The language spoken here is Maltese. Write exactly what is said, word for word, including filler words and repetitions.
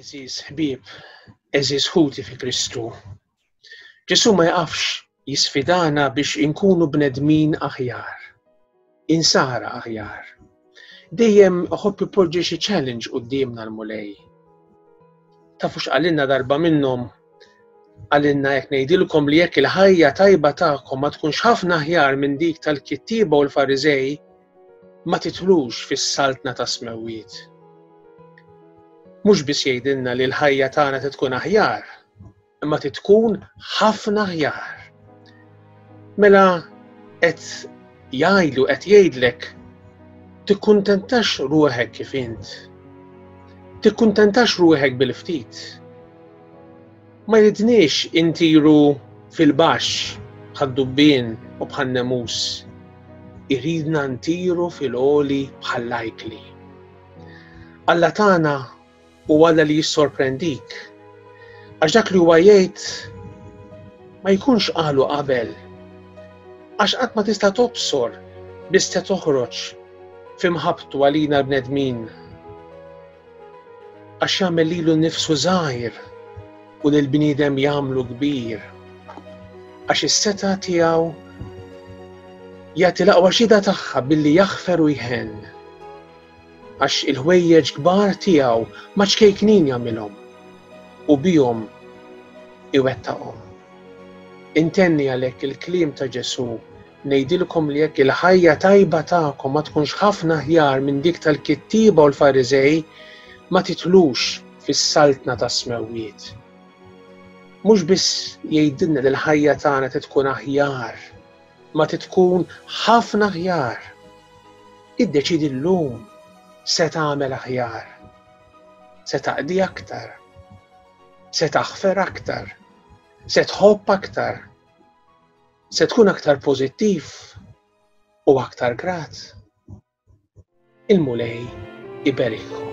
Għeżież ħbieb, għeżież ħuti fi Kristu. Ġesù ma jaqafx jisfidana biex inkunu bnedmin aħjar, insara aħjar. Dejjem iħobb ipoġġi xi challenge quddiemna l-Mulej. Tafu x'qalilna darba minnhom? Qalilna jekk ngħidilkom li jekk il-ħajja tajba tagħkom ma tkunx ħafna aħjar minn dik tal-kittieba u l-Fariżej, ma titlux fis-saltna tas-smewwiet. Mhux biss jgħidilna li l-ħajja tagħna tkun aħjar, imma tkun ħafna aħjar. Mela qed jgħidlu qed jgħidlek tikkuntentax ruħek kif int. Tikkuntentax ruħek bil-ftit. Ma jridniex intiru fil-baxx bħad-dubbien u bħan-nemus. Iridna ntiru fil-għoli bħall-ajkli. Alla tagħna u Alla li jissorprendik. Għax dak li huwa jgħid ma jkunx qalu qabel. Għax qatt ma tista' tobsor biss se toħroġ f'imħabbtu għalina l-bnedmin. Għax jagħmel lilu nnifsu żgħir u lil bniedem jagħmlu kbir. Għax is-setgħa tiegħu jagħti l-aqwa xhieda tagħha billi jaħfer u jħenn. Għax il-ħwejjeġ kbar tiegħu ma ċkejknin jagħmilhom u bihom iwettaqhom. Intenni għalhekk il-kliem ta' Ġesù, ngħidilkom li jekk il-ħajja tajba tagħkom ma tkunx ħafna aħjar minn dik tal-kittieba u l-Fariżej, ma titlux fis-saltna tas-smewwiet. Mhux biss jgħidilna li l-ħajja tagħna tkun aħjar, ma tkun ħafna aħjar. Iddeċidi llum se tagħmel aħjar, se taqdi aktar, se taħfer aktar, se tħobb aktar, se tkun aktar pożittiv u aktar grat. Il-Mulej iberikkom.